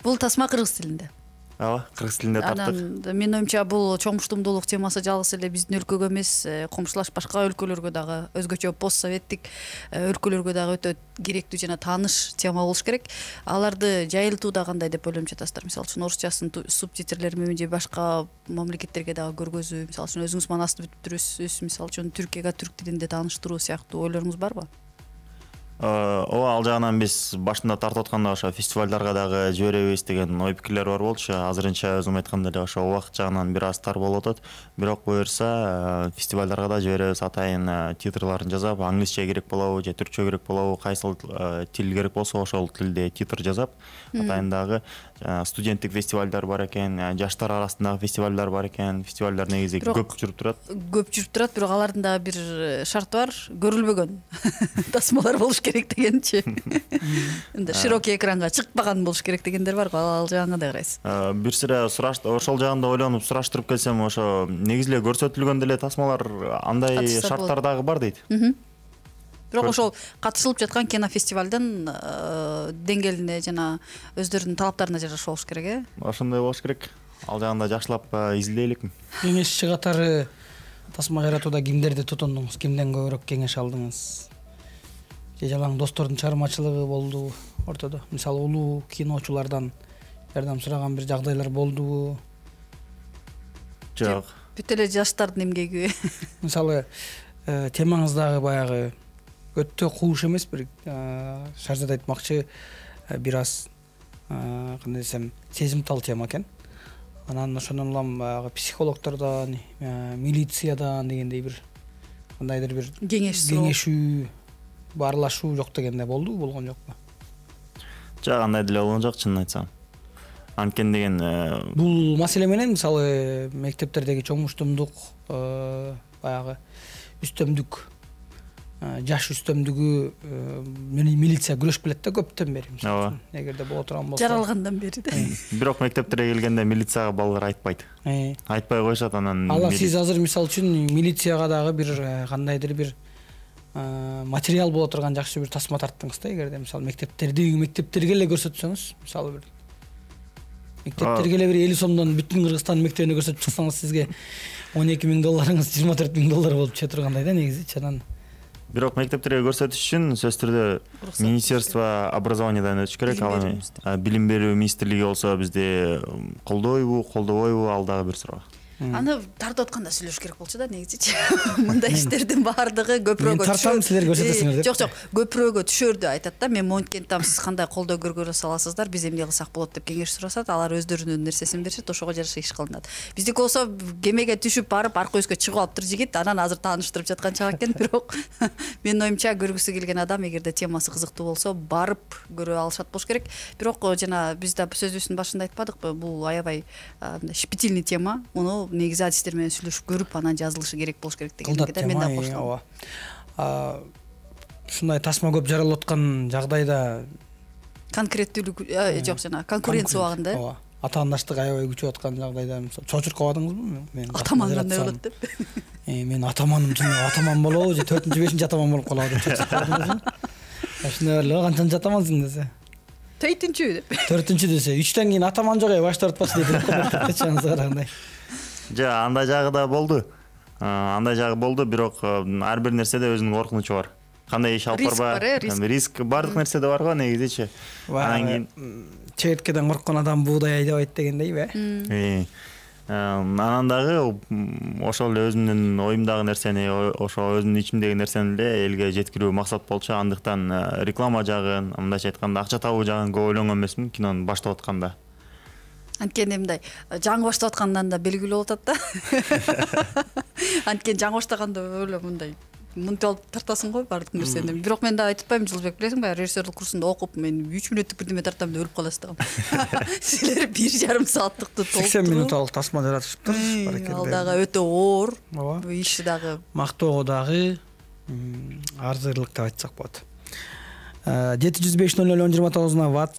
C: Бул тасма кыргыз тилинде.
B: Ооба, кыргыз тилинде тарттык.
C: Анан менин оюмча бул чоңмуштумдуулук темасы жалгыз эле биздин өлкөгө эмес, комшулаш башка өлкөлөргө дагы, өзгөчө постсоветтик өлкөлөргө дагы өтө керектүү жана тааныш тема болуш керек. Аларды жайылтууда кандай деп ойлонуп жатасыздар? Мисалы үчүн орусчасын субтитрлер менен же башка мамлекеттерге дагы көргөзүү, мисалы үчүн өзүңүз манасты бүтүрүсүз, мисалы үчүн Түркияга түрк тилинде тааныштыруу сыяктуу ойлоруңуз барбы?
B: Ооба, ал жагынан биз башында тартып атканда ошо фестивалдарга дагы жиберебиз деген ой пикирлер бар болчу. Азырынча өзүм айткандай эле ошо убакыт жагынан бир аз тар болуп атат. Бирок буюрса фестивалдарга да жиберебиз. Атайын титрларын жасап, англисче керек болобу же түркчө керек болобу, кайсыл тил керек болсо ошол тилде титр жасап, атайын дагы студенттик фестивалдар бар экен, жаштар арасындагы фестивалдар бар экен. Фестивалдар негизи көп жүрүп турат.
C: Көп жүрүп турат, бирок алардын дагы бир шарты бар, көрүлбөгөн тасмалар болуш керек дегенчи. Энди широкий экранга чыкпаган болуш керек дегендер бар го, ал жагына кандай карайсыз?
B: Бир сыра сураш, ошол жагында ойлонуп сураштырып келсем, ошо негизи эле көрсөтүлгөн деле тасмалар андай шарттар дагы бар дейт.
C: Бирок ошол катышылып жаткан кинофестивалдын деңгээлине жана өздөрүнүн талаптарына жараша болуш керек, э?
B: Ошондой болуш керек. Ал жагында жакшылап изилдейлик.
A: Кеңешчи катары тасма жаратууда кимдерди тутундуңуз? Кимден көбүрөөк кеңеш алдыңыз? Же жалаң достордун чыгармачылыгы болду ортодо? Мисалы, улуу киночулардан жардам сураган бир жагдайлар болдубу?
B: Жок.
C: Бүт эле жаштардын эмгеги.
A: Мисалы, темаңыз дагы баягы өтө кууш эмес, бир Шарзат айтмакчы бир аз кандай десем сезимтал тема экен. Анан ошондон улам баягы психологдордон, милициядан дегендей бир кандайдыр бир кеңешүү, баарлашуу жок дегенде болду, болгон жокпу?
D: Жок, андай деле болгон жок, чынын айтсам. Анткени деген
A: бул маселе менен мисалы мектептердеги чоңуштумдук, баягы үстөмдүк, жаш үстөмдүгү милиция күрөшүп келет да көптөн бери. Мисалы, эгерде боло турган болсо.
C: Жаралгандан бери да.
D: Бирок мектептерге келгенде милицияга балдар айтпайт. Айтпай коюшат, анан
A: ала сиз азыр мисалы үчүн милицияга дагы бир кандайдыр бир материал боло турган жакшы бир тасма тарттыңыз да, эгерде мисалы мектептерди мектептерге эле көрсөтсөңүз, мисалы бир мектептерге эле бир элүү сомдон бүтүн Кыргызстан мектебине көрсөтүп чыксаңыз, сизге он эки миң долларыңыз жыйырма төрт миң доллар болуп чыга тургандай да негизичи. Анан
D: бирок мектептерге көрсөтүш үчүн сөзсүз түрдө Министерство образованиядан өтүш керек. Ал эми билим берүү министрлиги болсо бизди колдойбу, колдобойбу, ал дагы бир суроо.
C: Аны тартып атканда сүйлөш керек болчу да негизичи. Мындай иштердин баардыгы көпүрөгө түшөт.
A: Мен тартам, силер көрсөтөсүңөр деп.
C: Жок, жок, көпүрөгө түшөрдү айтат да. Мен монткен там, сиз кандай колдоо көргөрө саласыздар, биз эмне кылсак болот деп кеңеш сурашат. Алар өздөрүнүн нерсесин беришет, ошого жараша иш кылынат. Биздики болсо кемеге түшүп барып арка өскө чыгып алыптыр жигит, анан азыр тааныштырып жаткан чак экен. Бирок менин оюмча көргүсү келген адам, эгерде темасы кызыктуу болсо, барып көрө алышат болуш керек. Бирок жана биз да сөзүбүздүн башында айтпадыкпы, бул аябай щепетильный тема. Муну негизи адистер менен сүйлөшүп көрүп, анан жазылышы керек болуш керек дегенге мен да коштум.
A: Ушундай тасма көп жаралып аткан жагдайда
C: конкреттүүлүк жок, жана конкуренция убагында
A: атаандаштык аябай күчөп аткан жагдайда мисалы чочуруп калбадыңызбы? Мен
C: атаман кандай болот деп.
A: Мен атаманым, атаман болобу же төртүнчү бешинчи атаман болуп калабы деп чочуруп калдыңызбы? Ошондой эле, канчанчы атамансың десе.
C: төртүнчү деп.
A: төртүнчү десе, үчтөн кийин атаман жок, баш тартпачы деп айтчаңыз кандай.
D: Жок, андай жагы да болду. Андай жагы болду, бирок ар бир нерседе өзүнүн коркунучу бар. Кандай иш алып барбай, риск бардык нерседе бар го негизичи. Анан кийин
A: чегирткеден корккон адам буудай айдабайт дегендейби?
D: Анан дагы ошол эле өзүмдүн оюмдагы нерсени, ошо өзүмдүн ичимдеги нерсени эле элге жеткирүү максат болчу. Андыктан реклама жагын, мындайча айтканда акча табуу жагын көп ойлонгон эмесмин кинону баштап атканда.
C: Анткени мындай жаңы баштап аткандан да белгилүү болуп атат да. Анткени жаңы баштаганда эле мындай мынтип алып тартасың го баардык нерсени. Бирок мен да айтып атпаймынбы, Жылбек, билесиң ба, режиссерлук курсунда окуп мен үч мүнөттүк бирдеме тартам деп өлүп каласыз дагы. Силер бир жарым сааттыкты толтуруп
A: сексен мүнөттүк тасма жаратышыптыр.
C: Ал дагы өтө оор. Иш дагы
A: мактоого дагы арзырлык деп айтсак болот. жети жүз беш ноль ноль он жыйырма тогуз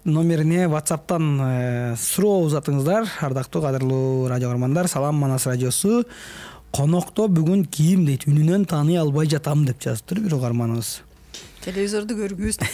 A: номерине WhatsApp'тан суроо узатыңыздар. Ардактуу кадырлуу радио көрөрмандар, салам, Манас радиосу. Конокто бүгүн кийим дейт, үнүнөн тааный албай жатам деп жазыптыр бир угарманыбыз.
C: Телевизорду көрүңүз деп.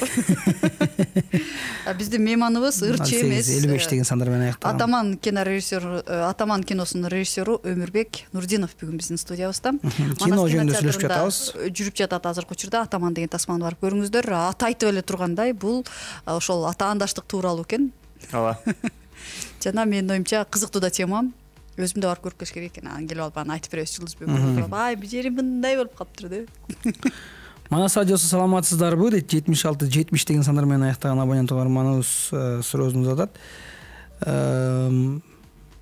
C: Биздин мейманыбыз ырчы эмес.
A: элүү беш деген сандар менен аяктаган.
C: Атаман кино режиссеру, Атаман киносунун режиссеру Өмүрбек Нурдинов бүгүн биздин студиябызда.
A: Кино жөнүндө сүйлөшүп жатабыз.
C: Жүрүп жатат азыркы учурда. Атаман деген тасманы барып көрүңүздөр. Аты айтып эле тургандай, бул ошол атаандаштык тууралуу экен.
D: Ооба.
C: Жана менин оюмча кызыктуу да тема. Өзүм да барып көрүп керек экен. Анан келип алып анан айтып беребиз Жылдызбек. Ай, бир жерим мындай болуп калыптыр деп.
A: Манас радиосу саламатсыздарбы дейт, жетимиш алты жетимиш деген сандар менен аяктаган абонент угарманыбыз суроосун узатат.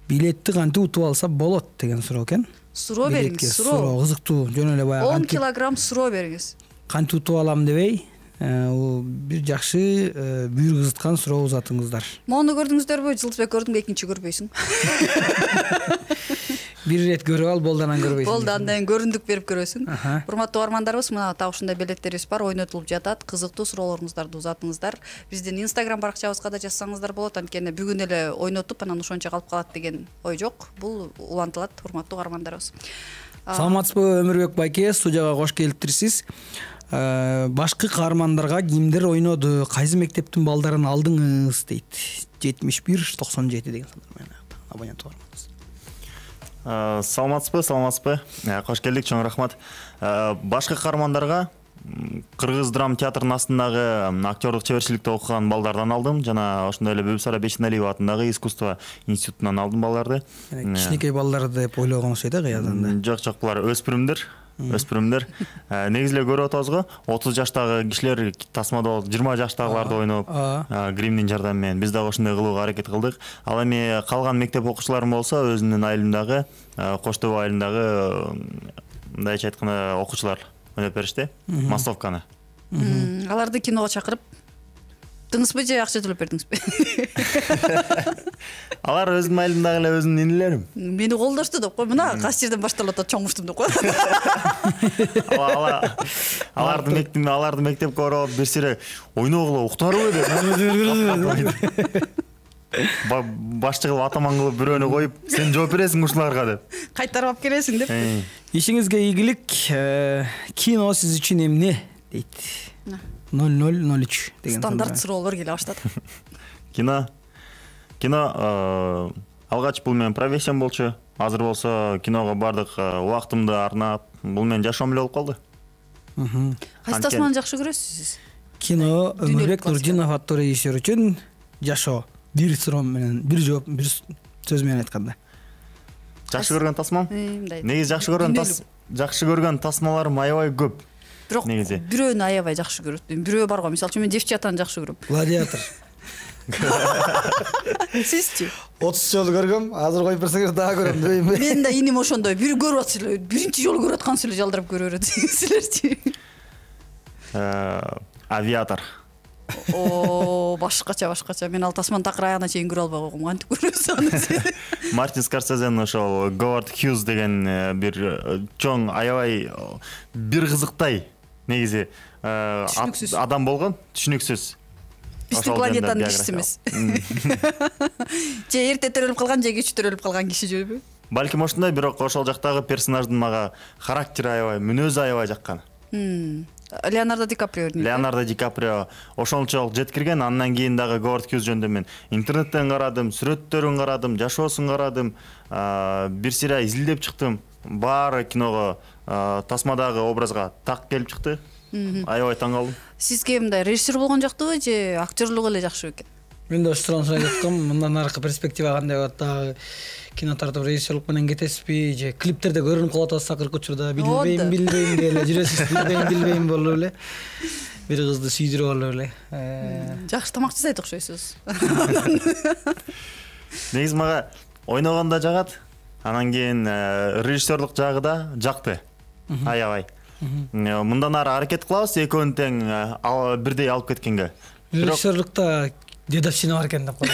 A: Билетти кантип утуп алса болот деген суроо экен.
C: Суроо бериңиз, суроо.
A: Кызыктуу, жөн эле баягы
C: он килограмм суроо бериңиз.
A: Кантип утуп алам дебей, бир жакшы бүйүр кызыткан суроо узатыңыздар.
C: Мону көрдүңүздөрбү? Жылдызбек, көрдүңбү? Экинчи көрбөйсүң.
A: Бир ирет көрүп ал, болду анан көрбөйсүң.
C: Болду, андан көрүндүк берип көрөсүң. Урматтуу угармандарыбыз, мына так ушундай билеттерибиз бар, ойнотулуп жатат. Кызыктуу суроолоруңуздарды узатыңыздар. Биздин Instagram баракчабызга да жазсаңыздар болот. Анткени бүгүн эле ойнотуп, анан ошончо калып калат деген ой жок. Бул улантылат, урматтуу угармандарыбыз.
A: Саламатсызбы, Өмүрбек байке, студияга кош келиптирсиз. Башкы каармандарга кимдер ойноду, кайсы мектептин балдарын алдыңыз дейт. жетимиш бир токсон жети деген сандар менен абонент угарманыбыз.
D: Саламатсызбы, саламатсызбы. Кош келдик, чоң рахмат. Башкы каармандарга Кыргыз драма театрынын астындагы актерлук чеберчиликте окуган балдардан алдым. Жана ошондой эле Бүбүсара Бейшеналиева атындагы искусство институтунан алдым балдарды.
A: Кичинекей балдар деп ойлогон окшойт да кыязында.
D: Жок, жок, булар өспүрүмдөр. өспүрүмдөр. Негизи эле көрүп атабыз го, отуз жаштагы кишилер тасмада болуп, жыйырма жаштагыларды ойноп, гримдин жардамы менен биз дагы ошондой кылууга аракет кылдык. Ал эми калган мектеп окуучуларым болсо, өзүмдүн айылымдагы, Кош Тоо айылындагы мындайча айтканда окуучулар ойноп беришти, массовканы.
C: Аларды киного чакырып дыңызбы же акча төлөп бердиңизби?
D: Алар өзүнүн айылымдагы эле өзүмдүн инилерим.
C: Мени колдошту деп кой, мына кайсы жерден башталып атат чоңуштум деп кой.
D: Аларды мектеп, аларды мектепке барып бир сире ойногула уктарбы деп. Башчы кылып атаман кылып бирөөнү коюп, сен жооп бересиң ушуларга деп.
C: Кайтарып алып келесиң деп.
B: Ишиңизге ийгилик. Кино сиз үчүн эмне дейт? ноль ноль ноль үч деген
C: стандарт суроолор келе баштады.
D: Кино кино алгач бул менин профессиям болчу. Азыр болсо киного бардык убактымды арнап, бул менин жашоом эле болуп калды.
C: Кайсы тасманы жакшы көрөсүз сиз?
B: Кино Өмүрбек Нурдинов аттуу режиссер үчүн жашоо. Бир суроо менен, бир жооп, бир сөз менен айтканда.
D: Жакшы көргөн тасмам? Негизи жакшы көргөн тас жакшы көргөн тасмаларым аябай көп.
C: Бирок бирөөнү аябай жакшы көрөт. Бирөө бар го, мисалы үчүн мен девчатаны жакшы көрөм.
B: Гладиатор.
C: Сизчи?
B: отуз жолу көргөм, азыр коюп берсеңер дагы көрөм дейм.
C: Мен да иним ошондой. Бир көрүп атсыз, биринчи жолу көрүп аткансыз эле жалдырап көрө берет силерчи.
D: Авиатор.
C: О, башкача, башкача. Мен ал тасманын такыр аягына чейин көрө албай койгом. Кантип көрөсүз аны?
D: Мартин Скорсезенин ошол Говард Хьюз деген бир чоң аябай бир кызыктай негизи адам болгон, түшүнүксүз.
C: Биздин планетанын кишиси эмес. Же эрте төрөлүп калган, же кеч төрөлүп калган киши жөбү?
D: Балким ошондой, бирок ошол жактагы персонаждын мага характери аябай, мүнөзү аябай жаккан.
C: Леонардо Ди Каприо.
D: Леонардо Ди Каприо ошончолук жеткирген. Андан кийин дагы Говард Хьюз жөнүндө мен интернеттен карадым, сүрөттөрүн карадым, жашоосун карадым, бир сире изилдеп чыктым. Баары киного, тасмадагы образга так келип чыкты. Аябай таң калдым.
C: Сизге мындай режиссер болгон жактыбы же актерлук эле жакшы экен?
B: Мен да ошол суроonu сурап жаткам. Мындан аркы перспектива кандай болот? Дагы кино тартып режиссерлук менен кетесизби же клиптерде көрүнүп калып атасыз акыркы учурда? Билбейм, билбейм деле жүрөсүз. Билбейм, билбейм болуп эле. Бир кызды сүйдүрүп алып эле.
C: Жакшы тамак жасайт окшойсуз.
D: Негизи мага ойногондо жагат. Анан кийин режиссерлук жагы да жакты. Аябай. Мындан ары аракет кылабыз экөөнү тең бирдей алып кеткенге.
B: Режиссерлукта дедовщина бар экен деп коет.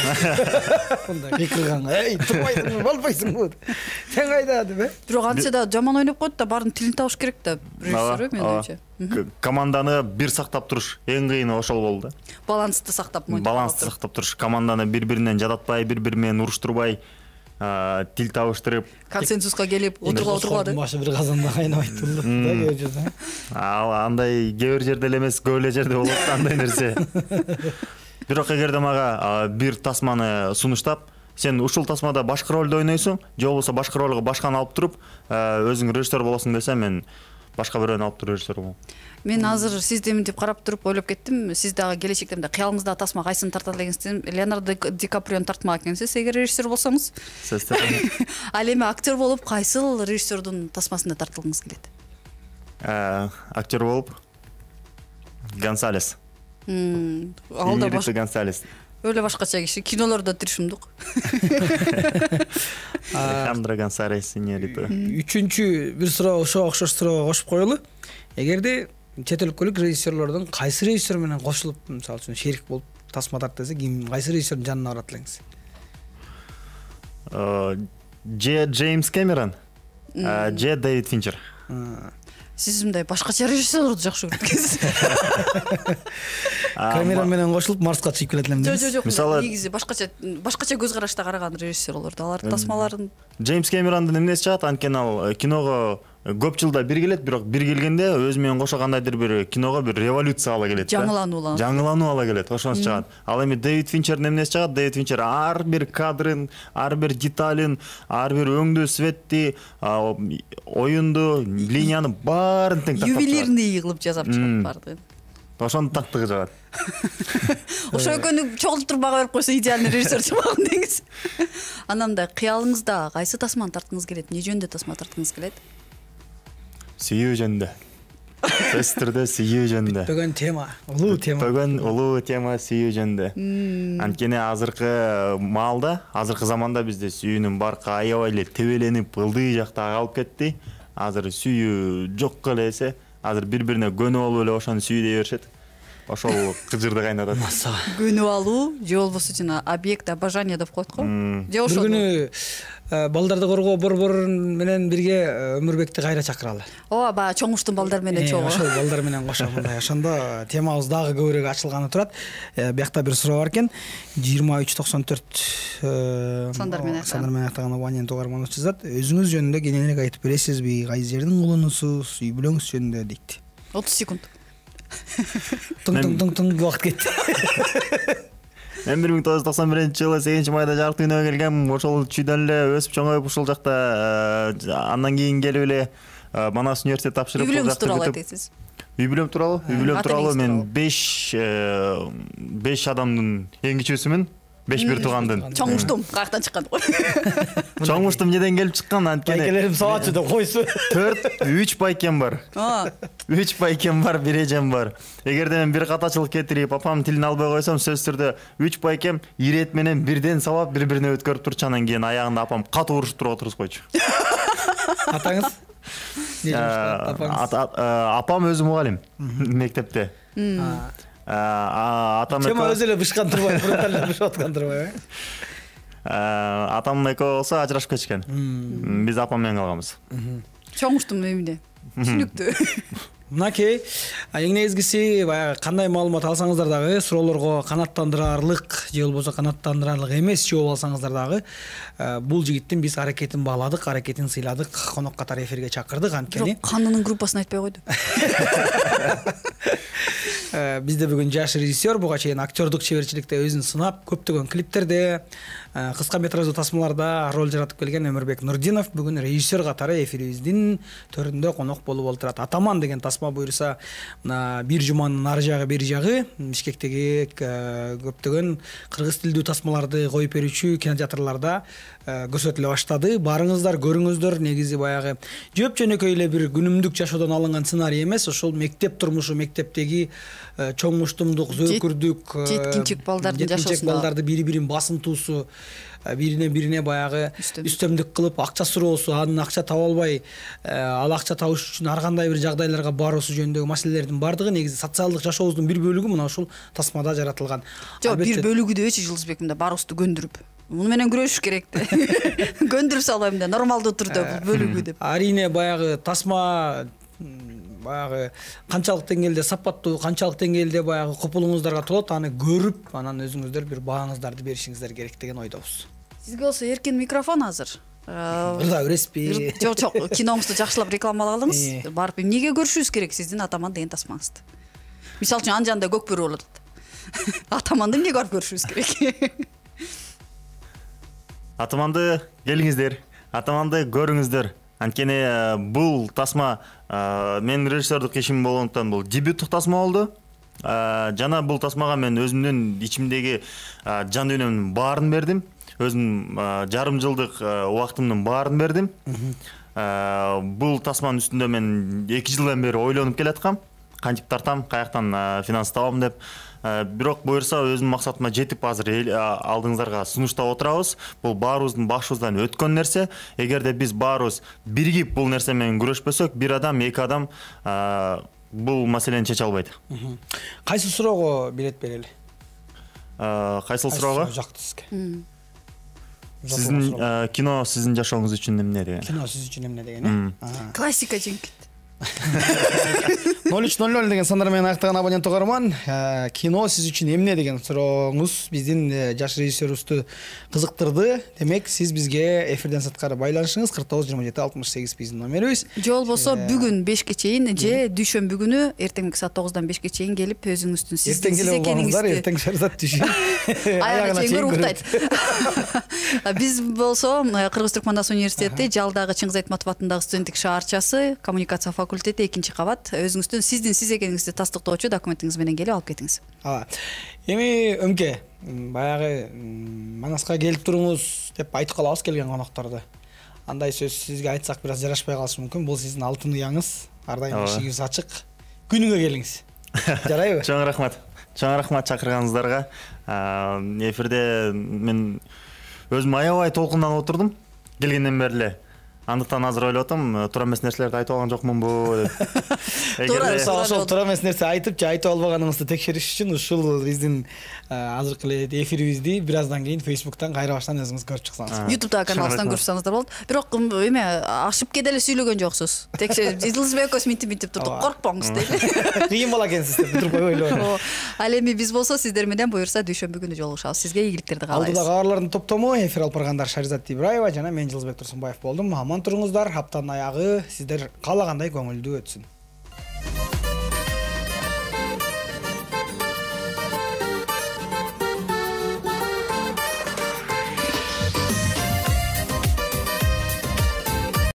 B: Мындай кыйкырганга, "Эй, турбайсыңбы, болбойсуңбу?" Сен кайда деп, э?
C: Бирок антсе да жаман ойноп коет да, баардын тилин табыш керек да режиссер, мен ойчу.
D: Команданы бир сактап туруш эң кыйыны ошол болду да.
C: Балансты сактап,
D: балансты сактап туруш, команданы бири-биринен жадатпай, бири-бири менен уруштурбай, тил табыштырып,
C: консенсуска келип отургула отургула.
B: Башы бир казанда кайнабайт болду да кээ жерде.
D: Андай кээ бир жерде эле эмес, көп эле жерде болот андай нерсе. Бирок эгерде мага бир тасманы сунуштап, сен ушул тасмада башка ролду ойнойсуң, же болбосо башка ролго башканы алып туруп, өзүң режиссер болосуң десе, мен башка бирөөнү алып туруп режиссер болом.
C: Мен азыр сизди мынтип карап туруп ойлоп кеттим. Сиз дагы келечекте мындай кыялыңызда тасма кайсын тартат элеңиз? Леонардо Ди Каприону тартмак экенсиз, эгер режиссер болсоңуз. Ал эми актер болуп кайсыл режиссердун тасмасында тартылгыңыз келет?
D: Актер болуп Гонсалес.
C: Алда башка
D: Гонсалес.
C: Өлө башкача киши, кинолордо тиришимдик.
D: Андре Гонсалес синьорито.
B: Үчүнчү бир суроо, ошо окшош суроого кошуп коелу. Эгерде чет өлкөлүк режиссерлордун кайсы режиссер менен кошулуп, мисалы үчүн шерик болуп тасма тарт десе, ким, кайсы режиссердин жанына барат элеңиз?
D: Же Джеймс Кэмерон, же Дэвид Финчер.
C: Сиз мындай башкача режиссерлорду жакшы көрөт экенсиз.
B: Камера менен кошулуп Марска чыгып келет элем дейсиз.
C: Жок, жок, негизи башкача башкача көз карашта караган режиссерлорду, алардын тасмаларын.
D: Джеймс Кэмерондун эмнеси чыгат? Анткени ал киного көп жылда бир келет, бирок бир келгенде өзү менен кошо кандайдыр бир киного бир революция ала келет.
C: Жаңылануу.
D: Жаңылануу ала келет, ошонусу чыгат. Ал эми Дэвид Финчердин эмнеси чыгат? Дэвид Финчер ар бир кадрын, ар бир деталын, ар бир өңдүү светти, оюнду, линияны баарын тең тактап чыгат.
C: Ювелирный кылып жасап чыгат баардыгын.
D: Ошонун тактыгы жагат.
C: Ошо экөөнү чогултуруп бага берип койсо идеальный режиссер чыгмаган деңиз. Анан мындай кыялыңызда кайсы тасманы тарткыңыз келет? Эмне жөнүндө тасма тарткыңыз келет?
D: сүйүү жөнүндө. Сөзсүз түрдө сүйүү жөнүндө.
B: Бүтпөгөн тема, улуу тема.
D: Бүтпөгөн улуу тема сүйүү жөнүндө. Анткени азыркы маалда, азыркы заманда бизде сүйүүнүн баркы аябай эле тебеленип, ылдый жакта калып кетти. Азыр сүйүү жокко эле эсе, азыр бири-бирине көнүп алып эле ошону сүйүү дей беришет. Ошол кыжырды кайнатат.
C: Көнүп алуу же болбосо жана объект обожания деп коет го. Же ошол.
B: Бир күнү балдарды коргоо борбору менен бирге Өмүрбекти кайра чакыралы.
C: Ооба, баягы чоңуштун балдар менен чогуу.
B: Ошол балдар менен кошо мындай ошондо темабыз дагы көбүрөөк ачылганы турат. Биякта бир суроо бар экен. жыйырма үч токсон төрт
C: сандар менен
B: сандар менен аттаган абонент угарманыбыз жазат. Өзүңүз жөнүндө кененирээк айтып бересизби? Кайсы жердин кулунусуз? Үй бүлөңүз жөнүндө дейт.
C: отуз секунд.
B: Тың-тың-тың убакыт кетти.
D: Мен бир миң тогуз жүз токсон биринчи жылы сегизинчи майда жарык дүйнөгө келгем. Ошол чүйдөн эле өсүп чоңоюп ушул жакта андан кийин келип эле Манас университет тапшырып
C: үй бүлөңүз тууралуу айтасыз.
D: Үй бүлөм тууралуу, үй бүлөм тууралуу мен беш беш адамдын эң кичүүсүмүн. беш бир туугандын.
C: Чоңуштум, каяктан чыккан?
D: Чоңуштум неден келип чыккан анткени.
B: Байкелерим сабатчы деп койсу.
D: төрт, үч байкем бар. үч байкем бар, бир эжем бар. Эгерде мен бир катачылык кетирип, апам тилин албай койсом, сөзсүз түрдө үч байкем ирет менен бирден сабап, бири-бирине өткөрүп турчу, анан кийин аягында апам катуу урушуп туруп отургуз койчу.
B: Атаңыз?
D: Апам өзү мугалим мектепте. Атам
B: Чема өзү эле бышкан турбай, фронталда бышып аткан турбай.
D: Атам эко болсо ажырашып кетишкен. Биз апам менен калганбыз.
C: Чоңуштум эмне? Түшүнүктүү.
B: Мынакей, эң негизгиси баягы кандай маалымат алсаңыздар дагы суроолорго канааттандырарлык же болбосо канааттандырарлык эмес жооп алсаңыздар дагы бул жигиттин биз аракетин бааладык, аракетин сыйладык, конок катары эфирге чакырдык анткени.
C: Бирок канынын группасын айтпай койду.
B: Бизде бүгүн жаш режиссер, буга чейин актёрдук чеберчиликте өзүн сынап, көптөгөн клиптерде, кыска метраждуу тасмаларда роль жаратып келген Өмүрбек Нурдинов бүгүн режиссер катары эфирибиздин төрүндө конок болуп олтурат. Атаман деген тасма буюрса, мына бир жуманын ары жагы бери жагы Бишкектеги көптөгөн кыргыз тилдүү тасмаларды коюп берүүчү кинотеатрларда көрсөтүлө баштады. Барыңыздар, көрүңүздөр. Негизи баягы жөп жөнөкөй эле бир күнүмдүк жашоодон алынган сценарий эмес, ошол мектеп турмушу, мектептеги чоңуштумдук, зөөкүрдүк,
C: жеткинчек балдардын жашоосунда,
B: жеткинчек балдарды бири-бирин басынтуусу, бирине бирине баягы үстөмдүк кылып акча суроосу, анын акча таба албай, ал акча табыш үчүн ар кандай бир жагдайларга баруусу жөнүндөгү маселелердин бардыгы негизи социалдык жашообуздун бир бөлүгү мына ушул тасмада жаратылган.
C: Жок, бир бөлүгү дебечи Жылдызбек, мында барыбызды көндүрүп. Муну менен күрөшүш керек да. Көндүрүп салбайм да, нормалдуу түрдө бөлүгү деп.
B: Арине баягы тасма баягы канчалык деңгээлде сапаттуу, канчалык деңгээлде баягы копулуңуздарга толот, аны көрүп, анан өзүңүздөр бир бааңыздарды беришиңиздер керек деген ойдобуз.
C: Сизге болсо эркин микрофон азыр.
B: Ырда бересизби?
C: Жок, жок, киноңузду жакшылап рекламалагылыңыз. Барып эмнеге көрүшүбүз керек сиздин Атаман деген тасмаңызды? Мисалы үчүн анын жанында Көкбөрү болот. Атаманды эмнеге барып көрүшүбүз керек?
D: Атаманды келиңиздер, Атаманды көрүңүздөр. Анткени бул тасма мен режиссердук ишим болгондуктан бул дебюттук тасма болду. Жана бул тасмага мен өзүмдүн ичимдеги жан дүйнөмдүн баарын бердим. Өзүм жарым жылдык убактымдын баарын бердим. Бул тасманын үстүндө мен эки жылдан бери ойлонуп келаткам. Кантип тартам, каяктан финанс табам деп. Бирок буюрса өзүмдүн максатыма жетип азыр алдыңыздарга сунуштап отурабыз. Бул баарыбыздын башыбыздан өткөн нерсе. Эгерде биз баарыбыз биригип бул нерсе менен күрөшпөсөк, бир адам, эки адам бул маселени чече албайт.
B: Кайсы суроого билет берели?
D: Кайсыл суроого?
B: Жакты сизге.
D: Сиздин кино сиздин жашооңуз үчүн эмне деген?
B: Кино сиз үчүн эмне деген, э?
C: Классика жеңкет.
B: ноль үч ноль ноль деген сандар менен аяктаган абонент угарман, кино сиз үчүн эмне деген сурооңуз биздин жаш режиссерибизди кызыктырды. Демек, сиз бизге эфирден сырткары байланышыңыз кырк тогуз жыйырма жети алтымыш сегиз биздин номерибиз.
C: Же болбосо бүгүн бешке чейин же дүйшөмбү күнү эртеңки саат тогуздан бешке чейин келип өзүңүздүн сиздин сиз экениңизди
B: эртең шарзат түшүн.
C: Аягына чейин уктайт. Биз болсо Кыргыз Түркмандас университети Жалдагы Чыңгыз Айтматов атындагы студенттик шаарчасы, коммуникация факультети экинчи кабат. Өзүңүздүн сиздин сиз экениңизди тастыктоочу документиңиз менен келип алып кетиңиз.
B: Ооба. Эми Өмке, баягы Манаска келип туруңуз деп айтып калабыз келген конокторду. Андай сөз сизге айтсак бир аз жарашпай калышы мүмкүн. Бул сиздин алтын уяңыз. ар дайым эшигибиз ачык. Күнүгө келиңиз. Жарайбы?
D: Чоң рахмат. Чоң рахмат чакырганыңыздарга. Эфирде мен өзүм аябай толкунданып отурдум келгенден бери эле. Андыктан азыр ойлоп атам, туура эмес нерселерди айтып алган жокмунбу деп.
B: Ошол туура эмес нерсе айтып же айтып албаганыңызды текшериш үчүн ушул биздин азыркы эле эфирибизди бир аздан кийин Facebook'тан кайра баштан өзүңүз көрүп чыксаңыз.
C: YouTube'да каналыбыздан көрүп чыксаңыздар болот. Бирок эме ашып кете эле сүйлөгөн жоксуз. Текшерип, Жылдызбек экөөбүз минтип минтип турдук, коркпоңуз дейт.
B: Кыйын бала экенсиз деп бүтүрүп койбойлу.
C: Ал эми биз болсо сиздер менен буюрса дүйшөмбү күнү жолугушабыз. Сизге ийгиликтерди каалайбыз.
B: Алдыда кабарлардын топтому эфир алып баргандар Шаризат Ибраева жана мен Жылдызбек Турсунбаев болдум. Аман туруңуздар. Аптанын аягы сиздер каалагандай көңүлдүү өтсүн.